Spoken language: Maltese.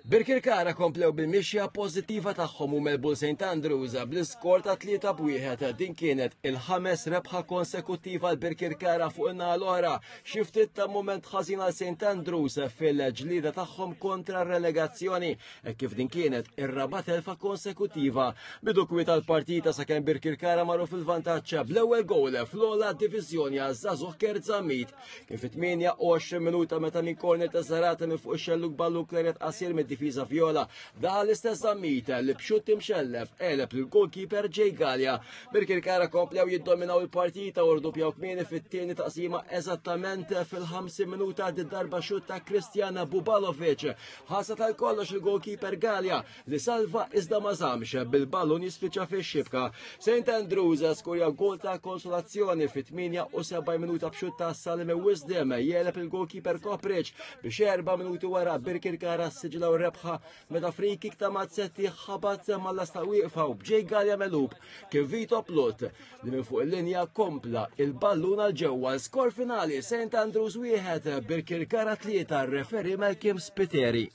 Birkirkara komplew bil-mixja pożittiva tagħhom u melbu St Andrews bl-iskor ta' 3-1. Din kienet il-ħames rebħa konsekuttiva għal Birkirkara fuq in-naħa l-oħra. Xi ftit ta' mument ħażin għal St Andrews fil-ġlieda tagħhom kontra r-relegazzjoni e kif din kienet ir-raba' telfa konsekutiva. Bidu kwiet tal-partita sakemm Birkirkara marru fil-vantaġġ bl-ewwel gowl fl-ogħla diviżjoni għaż-żagħżugħ Kurt Zammit. Kien fit-28 minuta meta minn corner ta' Zarate minn fuq ix-xellug ballu kleret qasir mid-difiża Viola. Daħal l-istess Zammit li b'xutt imxellef għeleb lil goalkeeper Jay Galea. Birkirkara komplew jiddominaw il-partita u rdoppjaw kmieni fit-tieni taqsima eżattament fil-50 minuta darba xutt ta' Kristjana Bubalovic. Ħasa tal-kollox il-goalkeeper Galea li salva iżda ma żamx bil-ballun jispiċċa fix-xibka. St. Andrews skurja gol ta' konsolazzjoni fit-78 minuta b'xutt ta' Salime Wisdom jeleb il-goalkeeper Kopric biex erba' minuti wara Birkirkara siġlaw rebħa meta free kick ta' Mazzetti ħabat mal-lasta wieqfa u b'Ġej Galja Melub kien Vito Plut li minn fuq il-linja kompla il-ballun għal ġewwa l-skor finali St. Andrews wieħed Birkirkara tlieta referi Malcolm Spiteri.